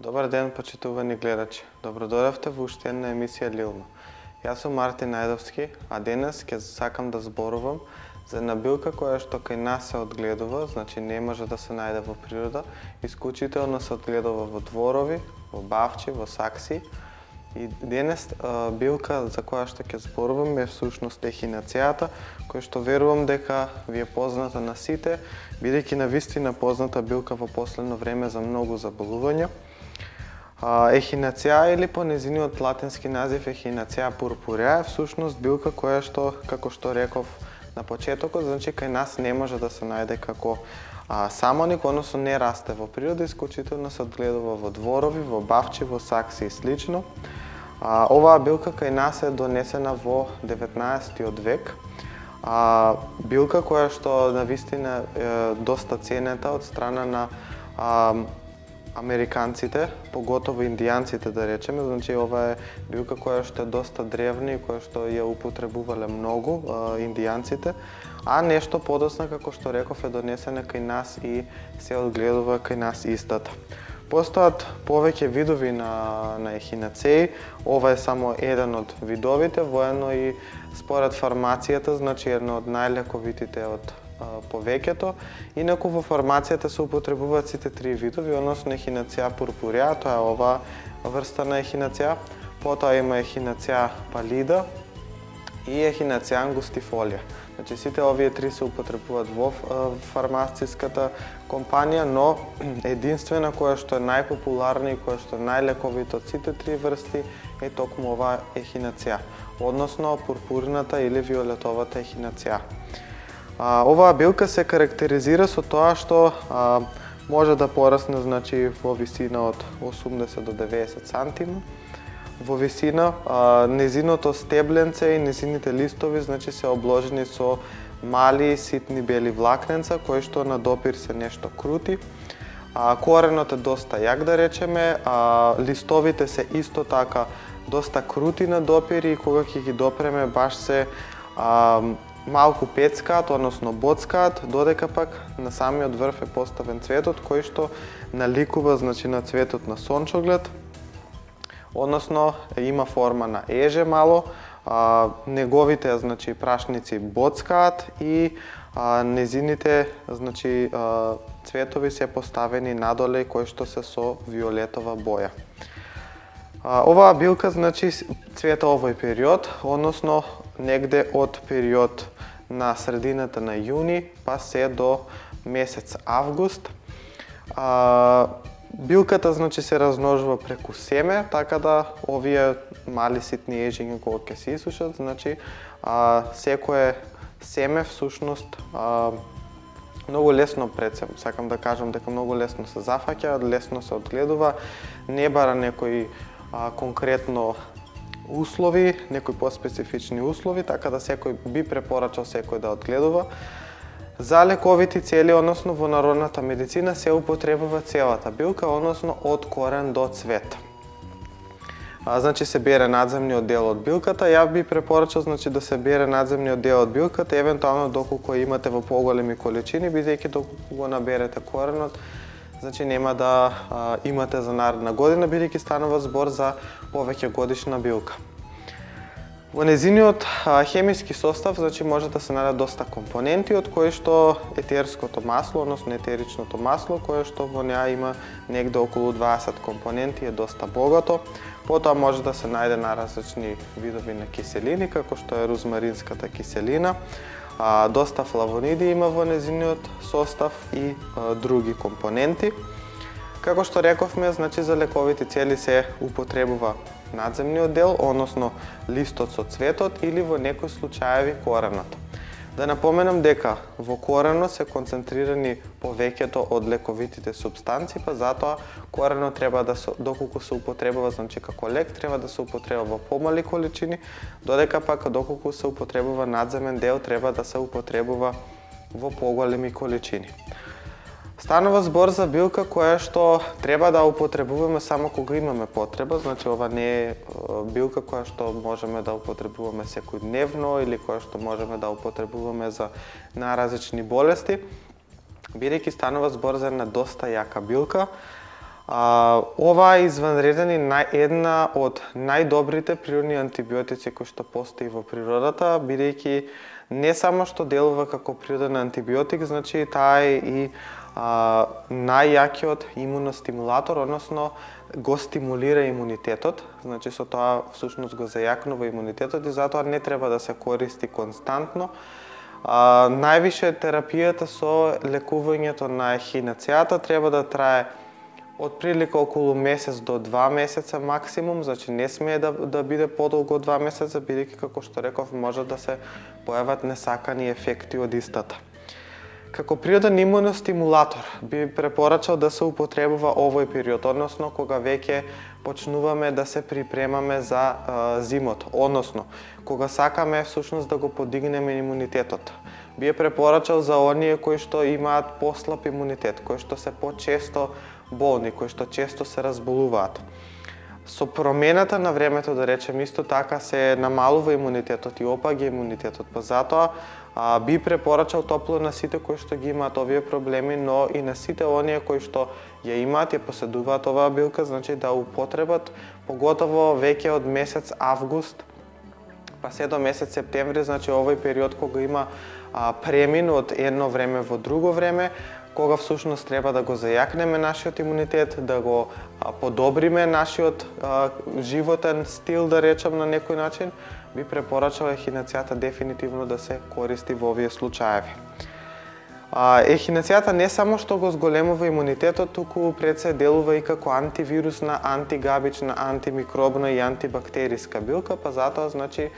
Добар ден, почитувани гледачи. Добродојавте во уште една емисија Лилно. Јас сум Мартин Најдовски, а денес ќе сакам да зборувам за една билка која што кај нас се одгледува, значи не може да се најде во природа, исклучително се одгледува во дворови, во бавчи, во сакси. И денес билка за која што ќе зборувам е всушност ехинацијата, која што верувам дека ви е позната на сите, бидејќи навистина позната билка во последно време за многу заболувања. Ехинација или по нејзиниот латински назив ехинација purpurea е всушност билка која што, како што реков на почетокот, значи кај нас не може да се најде како самоник, односно не расте во природа, исклучително се одгледува во дворови, во бавчи, во сакси и слично. Оваа билка кај нас е донесена во 19 век. Билка која што навистина е доста ценета од страна на американците, поготово индијанците да речеме, значи ова е билка која што е доста древна и која што ја употребувале многу индијанците, а нешто подоцна, како што реков, е донесена кај нас и се одгледува кај нас истата. Постојат повеќе видови на ехинацеи, ова е само еден од видовите, воедно и според фармацијата, значи едно од најлековитите од повеќето. Инаку во фармацијата се употребуваат сите три видови, односно ехинација purpurea, тоа е оваа врста на ехинација, потоа има ехинација pallida и ехинација angustifolia. Значи сите овие три се употребуваат во фармациската компанија, но единствена која што е најпопуларна и која што е најлековита од сите три врсти е токму оваа ехинација, односно пурпурната или виолетовата ехинација. Оваа билка се карактеризира со тоа што може да порасне, значи, во висина од 80 до 90 сантима. Во висина, незиното стебленце и незините листови, значи, се обложени со мали ситни бели влакненца, кои што на допир се нешто крути. Коренот е доста јак, да речеме, листовите се исто така доста крути на допир и кога ќе ги допреме баш се малку пецкаат, односно боцкаат, додека пак на самиот врв е поставен цветот кој што наликува, значи, на цветот на сончоглед, односно има форма на еже мало, неговите, значи, прашници боцкаат и незините, значи, цветови се поставени надоле кои што се со виолетова боја. Оваа билка, значи, цвета овој период, односно негде од период на средината на јуни па се до месец август. Билката, значи, се размножува преку семе, така да овие мали ситни ежиња кога ќе се исушат, значи секое семе всушност многу лесно сакам да кажам дека многу лесно се зафаќа, лесно се одгледува, не бара некои конкретно услови, некои поспецифични услови, така да секој би препорачал секој да одгледува. За лековити цели, односно во народната медицина се употребува целата билка, односно од корен до цвет. Значи се бере надземниот дел од билката, ја би препорачал, значи, да се бере надземниот дел од билката, евентуално доколку имате во поголеми количини, бидејќи доколку го наберете коренот, значи нема да имате за наредна година, бидејќи станува збор за повеќе годишна билка. Во незиниот хемиски состав, значи, може да се најдат доста компоненти, од кои што етерското масло, односно етеричното масло, кое што во неа има негде околу 20 компоненти, е доста богато. Потоа може да се најде на различни видови на киселини, како што е розмаринската киселина. Доста флавониди има во незиниот состав и други компоненти. Како што рековме, значи, за лековите цели се употребува надземниот дел, односно листот со цветот или во некои случаеви коренот. Да напоменам дека во коренот се концентрирани повеќето од лековитите супстанции, па затоа коренот треба да се, доколку се употребува, значи, како лек, треба да се употребува во помали количини, додека пак доколку се употребува надземен дел, треба да се употребува во поголеми количини. Станува збор за билка која што треба да употребуваме само кога имаме потреба, значи ова не е билка која што можеме да употребуваме секојдневно или која што можеме да употребуваме за најразлични болести, бидејќи станува збор за една доста јака билка. Ова е изванреден и една од најдобрите природни антибиотици кои што постои во природата, бидејќи не само што делува како природен антибиотик, значи таа е и најјакиот имуностимулатор, односно го стимулира имунитетот, значи со тоа всушност го зајакнува имунитетот и затоа не треба да се користи константно. Највише терапијата со лекувањето на ехинацијата треба да трае од прилика околу месец до 2 месеца максимум, значи не смее да биде подолго од 2 месеца, бидејќи како што реков може да се појават несакани ефекти од истата. Како природен имуностимулатор би препорачал да се употребува овој период, односно кога веќе почнуваме да се припремаме за зимото, односно кога сакаме всушност да го подигнеме имунитетот. Би препорачал за оние кои што имаат послаб имунитет, кои што се почесто болни, кои што често се разболуваат. Со промената на времето, да речем, исто така се намалува имунитетот и опаѓа имунитетот, па затоа би препорачал топло на сите кои што ги имаат овие проблеми, но и на сите оние кои што ја имаат, ја поседуваат оваа билка, значи да употребат, поготово веќе од месец август, па се до месец септември, значи овој период кога има премин од едно време во друго време, кога всушност треба да го зајакнеме нашиот имунитет, да го подобриме нашиот животен стил, да речем на некој начин, би препорачал ехинацијата дефинитивно да се користи во овие случаеви. Ехинацијата не само што го зголемува имунитетот, туку пред се делува и како антивирусна, антигабична, антимикробна и антибактериска билка, па затоа значи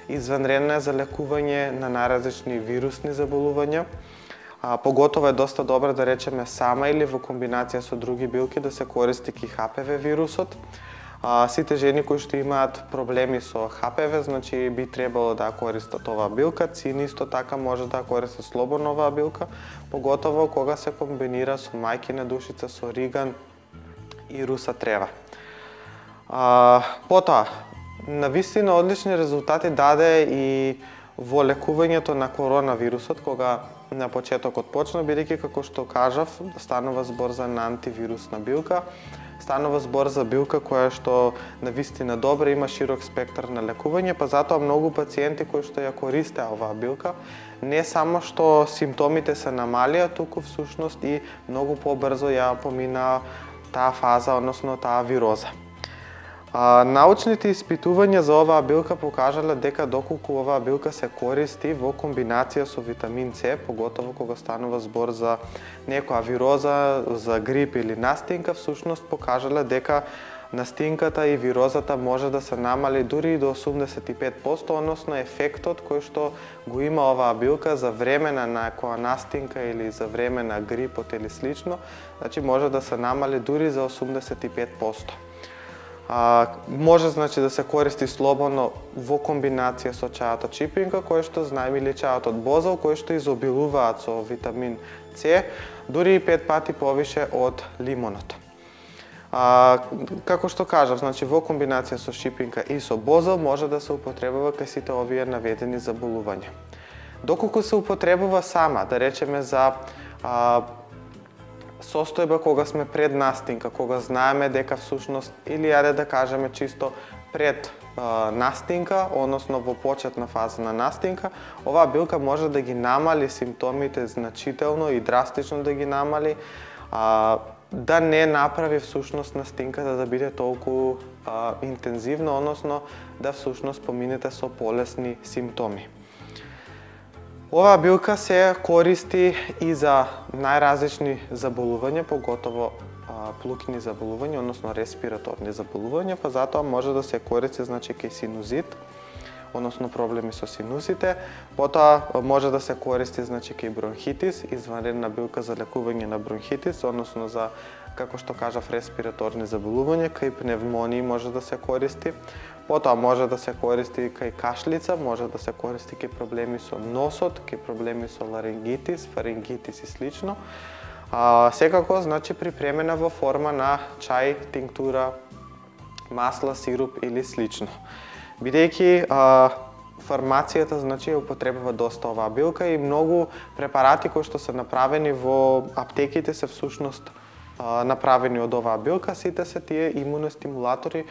изванредна за лекување на најразлични вирусни заболувања. Поготово е доста добро да речеме сама или во комбинација со други билки да се користи ки HPV вирусот. Сите жени кои што имаат проблеми со HPV, значи би требало да користат оваа билка. Цини исто така може да користат слободно оваа билка, поготово кога се комбинира со мајкина душица, со риган и руса трева. Потоа, навистина одлични резултати даде и во лекувањето на коронавирусот, кога на почетокот почна, бидејќи како што кажав, станува збор за антивирусна билка, станува збор за билка која што навистина добра, има широк спектар на лекување, па затоа многу пациенти кои што ја користеа оваа билка, не само што симптомите се намалија, туку всушност и многу побрзо ја поминаа таа фаза, односно таа вироза. Научните испитувања за оваа билка покажале дека доколку оваа билка се користи во комбинација со витамин С, поготово кога станува збор за некоја вироза, за грип или настинка, всушност покажале дека настинката и вирозата може да се намали дури и до 85%, односно ефектот кој што го има оваа билка за време на некоја настинка или за време на грипот или слично, значи може да се намали дури за 85%. Може значи да се користи слободно во комбинација со чајот чипинка, кој што знаеме, или чајот од бозал, кој што изобилуваат со витамин С, дури и 5 пати повише од лимонот. Како што кажав, значи во комбинација со шипинка и со бозал може да се употребува кај сите овие наведени заболувања. Доколку се употребува сама, да речеме за состојба кога сме пред настинка, кога знаеме дека всушност, или јаде да кажеме чисто пред настинка, односно во почетна фаза на настинка, оваа билка може да ги намали симптомите значително и драстично да ги намали, да не направи всушност настинката да биде толку интензивна, односно да всушност поминете со полесни симптоми. Оваа билка се користи и за најразлични заболувања, поготово плукни заболувања, односно респираторни заболувања, па затоа може да се користи значи кај синузит, односно проблеми со синусите, потоа може да се користи значи кај бронхитис, изванредна билка за лекување на бронхитис, односно за, како што кажав, респираторни заболувања, кај пневмонии може да се користи. Потоа може да се користи кај кашлица, може да се користи кај проблеми со носот, кај проблеми со ларингитис, фарингитис и слично. Секако, значи, припремена во форма на чај, тинктура, масла, сируп или слично. Бидејќи фармацијата, значи, употребува доста оваа билка и многу препарати кои што се направени во аптеките се всушност направени од оваа билка, сите се тие имуностимулатори.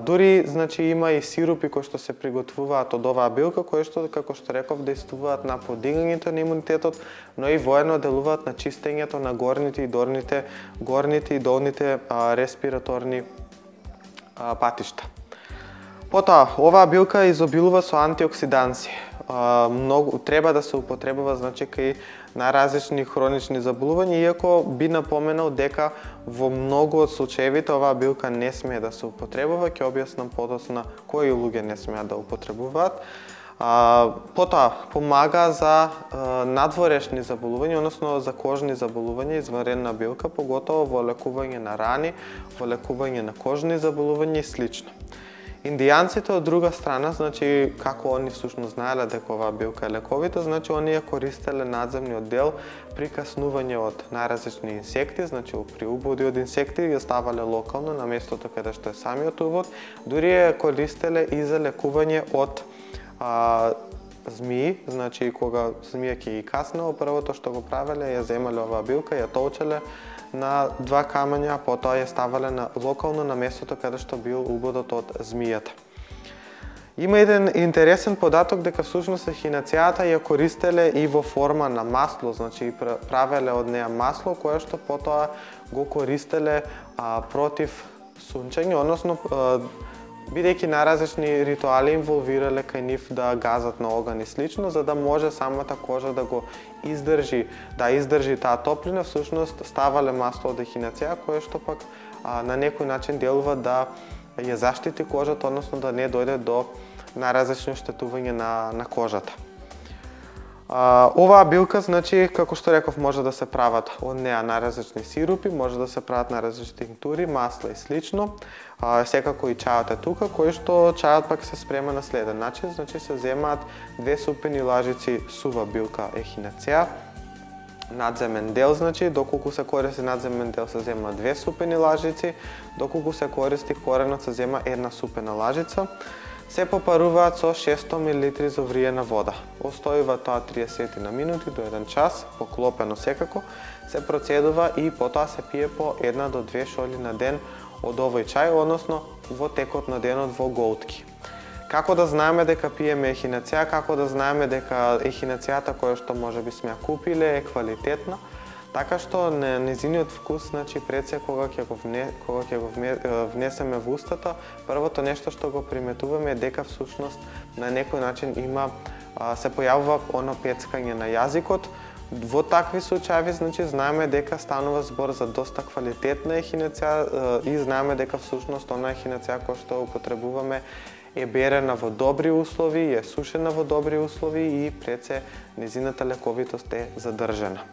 Дури значи има и сирупи кои што се приготвуваат од оваа билка, кои што како што реков действуваат на подигањето на имунитетот, но и воедно делуваат на чистењето на горните и долните респираторни патишта. Потоа, оваа билка изобилува со антиоксиданси. Треба да се употребува значи кај најразлични хронични заболувања, иако би напоменал дека во многу од случаевите оваа билка не смее да се употребува, ќе објаснам подоцна кои луѓе не смеат да употребуваат. Потоа, помага за надворешни заболувања, односно за кожни заболувања, извънредна билка, поготово во лекување на рани, во лекување на кожни заболувања и слично. Индијанците од друга страна, значи како они всушност знаеле дека оваа билка е лековита, значи они ја користеле надземниот дел при каснување од најразлични инсекти, значи при убоди од инсекти ја ставале локално на местото каде што е самиот убод, дури ја користеле и за лекување од змии, значи кога змија ќе ги каснела, првото што го правеле ја земале оваа билка, ја толчеле на два камења, потоа ја ставале локално на местото каде што бил убодот од змијата. Има еден интересен податок дека всушност ехинацијата ја користеле и во форма на масло, значи правеле од неа масло кое што потоа го користеле против сунчење, односно бидејќи најразлични ритуали инволвирале кај нив да газат на оган и слично, за да може самата кожа да го издржи таа топлина, всушност ставале масло од ехинација, кое што пак на некој начин делува да ја заштити кожата, односно да не дојде до најразлични оштетување на кожата. Оваа билка, значи, како што реков, може да се прават од неа најразлични сирупи, може да се прават најразлични тинктури, масла и слично. Секако и чајот е тука, кој што чајот пак се спрема на следен начин, значи се земаат 2 супени лажици сува билка ехинација, надземен дел, значи, доколку се користи надземен дел се зема 2 супени лажици, доколку се користи коренот се зема 1 супена лажица. Се попаруваат со 600 мл завриена вода. Остојува тоа 30 на минути до 1 час, поклопено секако, се процедува и потоа се пие по 1 до 2 шоли на ден од овој чај, односно во текот на денот во голтки. Како да знаеме дека пиеме ехинација, како да знаеме дека ехинацијата која што можеби сме ја купиле е квалитетна, така што незиниот вкус, значи пред се кога ќе го внесеме во устата, првото нешто што го приметуваме е дека всушност на некој начин се појавува оно пецкање на јазикот. Во такви случаи, значи, знаеме дека станува збор за доста квалитетна ехинација и знаеме дека всушност она ехинација која што употребуваме е берена во добри услови, е сушена во добри услови и пред се незината лековитост е задржана.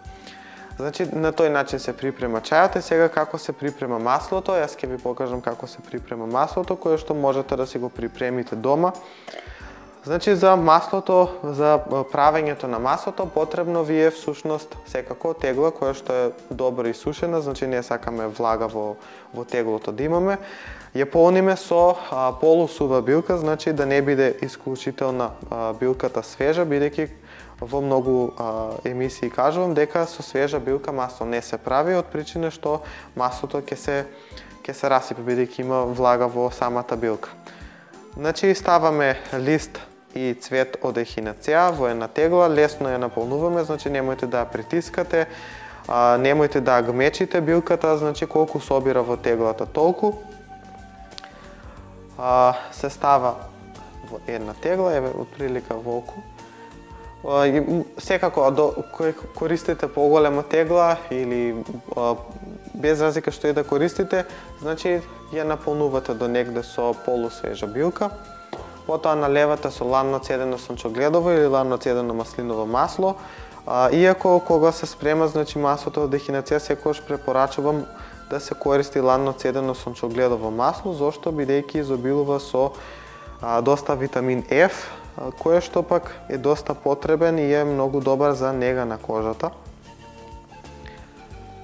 Значи, на тој начин се припрема чајот и сега како се припрема маслото, јас ќе ви покажам како се припрема маслото, кое што можете да си го припремите дома. Значи, за маслото, за правењето на маслото, потребно ви е всушност секако тегла која што е добро исушена, значи не сакаме влага во теглото да имаме. Ја полниме со полусува билка, значи да не биде исклучителна билката свежа, бидејќи во многу емисии кажувам дека со свежа билка масло не се прави од причина што маслото ќе се расипе бидејќи има влага во самата билка. Значи ставаме лист и цвет од ехинација во една тегла, лесно ја наполнуваме, значи немојте да ја притискате, немојте да ја гмечите билката, значи колку собира во теглата толку. Се става во една тегла, еве отприлика волку. Секако, кој користите поголема тегла или без разлика што и да користите, значи ја наполнувате до негде со полусвежа билка. Потоа наливате со ланно цедено сончогледово или ланно цедено маслиново масло. Иако кога се спрема, значи маслото од ехинација, секогаш препорачувам да се користи ланно цедено сончогледово масло, зошто бидејќи изобилува со доста витамин F, кој што пак е доста потребен и е многу добар за нега на кожата.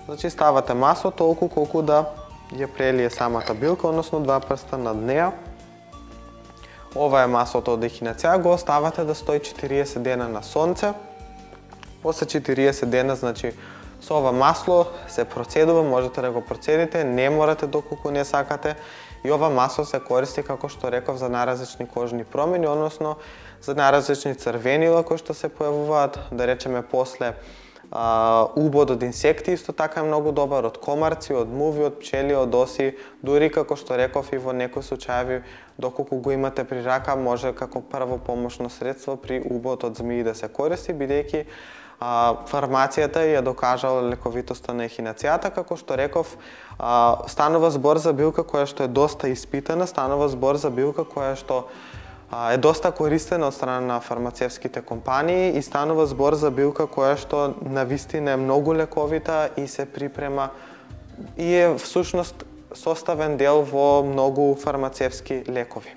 Значи ставате масло толку колку да ја прелие самата билка, односно 2 прста над неа. Ова е маслото од ехинација, го оставате да стои 40 дена на сонце. После 40 дена, значи Со ова масло се процедува, можете да го процедите, не морате доколку не сакате. И ова масло се користи, како што реков, за најразлични кожни промени, односно за најразлични црвенила кои што се појавуваат, да речеме после убод од инсекти, исто така е многу добар, од комарци, од муви, од пчели, од оси, дури како што реков и во некои случаи, доколку го имате при рака, може како прво помошно средство при убод од змии да се користи, бидејќи фармацијата ја докажала лековитоста на ехинацијата, како што реков, станува збор за билка која што е доста испитана, станува збор за билка која што е доста користена од страна на фармацевските компании и станува збор за билка која што навистина е многу лековита и се припрема и е всушност составен дел во многу фармацевски лекови.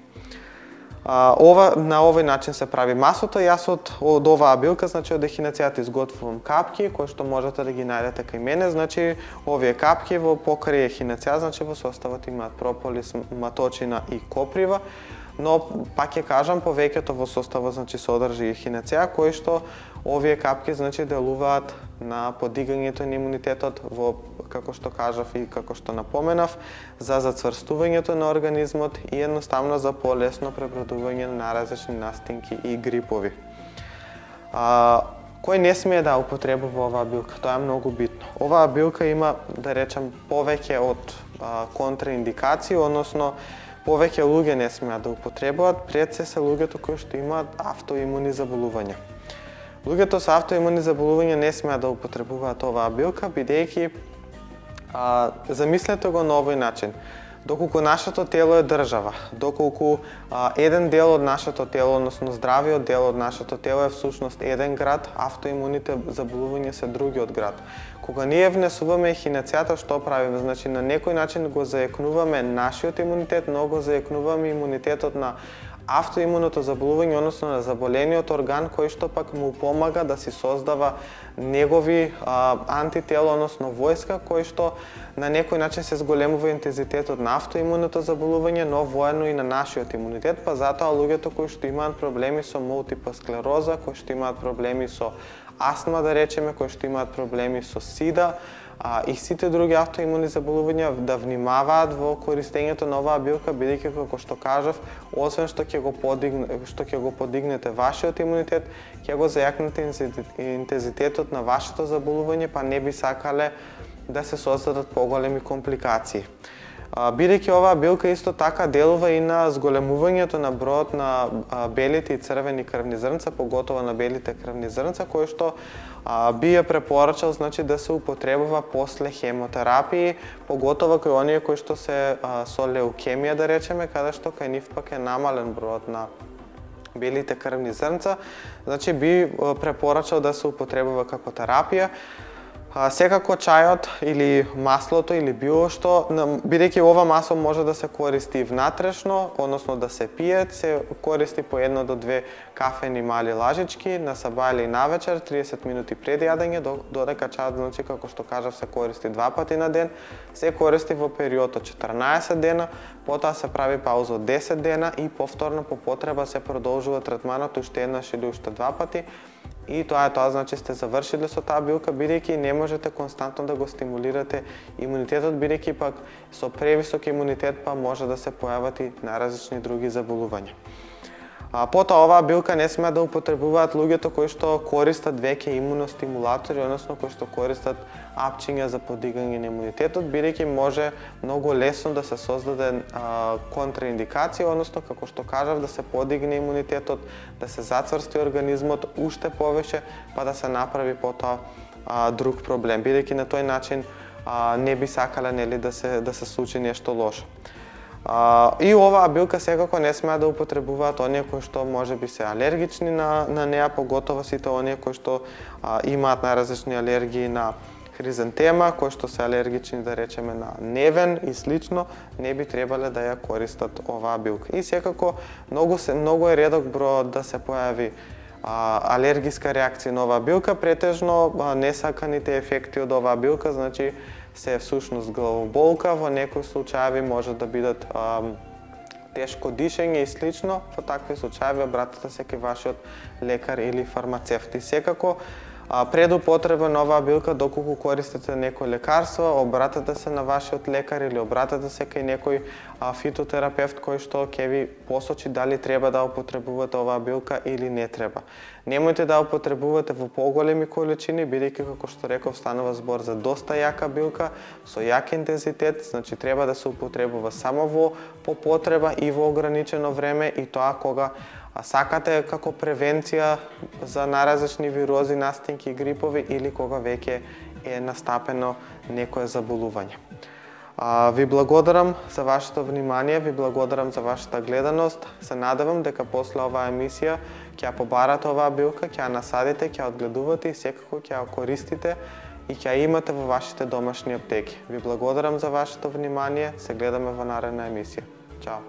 На овој начин се прави маслото. Јас од оваа билка, значи од ехинацијата изготвувам капки, кои што можете да ги најдете кај мене. Значи, овие капки во покрај ехинацијата, значи во составот имаат прополис, маточина и коприва. Но, пак ќе кажам, повеќето во составот значи содржи ехинација, кои што овие капки значи делуваат на подигањето на имунитетот во, како што кажав и како што напоменав, за зацврстувањето на организмот и едноставно за полесно пребродување на различни настинки и грипови. Кој не смее да употребува оваа билка? Тоа е многу битно. Оваа билка има, да речем, повеќе од контраиндикации, односно повеќе луѓе не смеат да употребуваат, пред се луѓето кои што имаат автоимуни заболувања. Луѓето со автоимуни заболувања не смеат да употребуваат оваа билка, бидејќи замислете го на овој начин. Доколку нашето тело е држава, доколку еден дел од нашето тело, односно здравиот дел од нашето тело е всушност еден град, автоимуните заболувања се другиот град. Кога ние внесуваме ехинацијата, што правиме? Значи, на некој начин го заекнуваме нашиот имунитет, но го заекнуваме имунитетот на автоимуното заболување, односно на заболениот орган, кој што пак му помага да си создава негови антитела, односно војска, кој што на некој начин се зголемува интензитетот на автоимуното заболување, но воедно и на нашиот имунитет, па затоа луѓето кои што имаат проблеми со мултипла склероза, кои што имаат проблеми со астма, да речеме, кои што имаат проблеми со сида, и сите други автоимуни заболувања да внимаваат во користењето на оваа билка, бидејќи како што кажав, освен што ќе го подигнете вашиот имунитет, ќе го зајакнете интензитетот на вашето заболување, па не би сакале да се создадат поголеми компликации. Бидејќи оваа билка исто така делува и на зголемувањето на бројот на белите и црвени крвни зрнца, поготово на белите крвни зрнца, кои што би ја препорачал значи да се употребува после хемотерапии, поготово кај оние кои што се со леукемија, да речеме, каде што кај нив пак е намален бројот на белите крвни зрнца, значи би препорачал да се употребува како терапија. Секако чајот или маслото или било што, бидејќи ова масло може да се користи внатрешно, односно да се пие, се користи по 1 до 2 кафени мали лажички на саба или навечер, 30 минути пред јадење, додека чајот, значи, како што кажав, се користи 2 пати на ден, се користи во период од 14 дена, потоа се прави пауза од 10 дена и повторно по потреба се продолжува третманот уште еднаш или уште 2 пати. И тоа значи сте завршиле со таа билка, бидејќи не можете константно да го стимулирате имунитетот, бидејќи пак со превисок имунитет па може да се појават и најразлични други заболувања. Потоа оваа билка не смеат да употребуваат луѓето кои што користат веќе имуностимулатори, односно кои што користат апчиња за подигање на имунитетот, бидејќи може многу лесно да се создаде контраиндикација, односно како што кажав, да се подигне имунитетот, да се зацврсти организмот уште повеќе, па да се направи потоа друг проблем, бидејќи на тој начин не би сакале нели да се случи нешто лошо. И оваа билка секако не смеат да употребуваат оние кои што можеби се алергични на неа, поготово сите оние кои што имаат најразлични алергии на хризантема, кои што се алергични, да речеме, на невен и слично, не би требале да ја користат оваа билка. И секако многу е редок бројот да се појави алергиска реакција на оваа билка, претежно несаканите ефекти од оваа билка, значи се всушност главоболка, во некои случаи може да бидат тешко дишење и слично. Во такви случаи обратете се кај вашиот лекар или фармацевт. И секако Пред употреба на оваа билка, доколку користите некој лекарство, обратете се на вашиот лекар или обратете се кај некој фитотерапевт кој што ќе ви посочи дали треба да употребувате оваа билка или не треба. Немојте да употребувате во поголеми количини, бидејќи како што реков станува збор за доста јака билка со јак интензитет, значи треба да се употребува само по потреба и во ограничено време, и тоа кога сакате како превенција за наразлични вирози, настинки и грипови или кога веќе е настапено некое заболување. Ви благодарам за вашето внимание, ви благодарам за вашата гледаност. Се надевам дека после оваа емисија ќе ја побарате оваа билка, ќе ја насадите, ќе ја одгледувате и секако ќе ја користите и ќе ја имате во вашите домашни аптеки. Ви благодарам за вашето внимание, се гледаме во наредна емисија. Чао!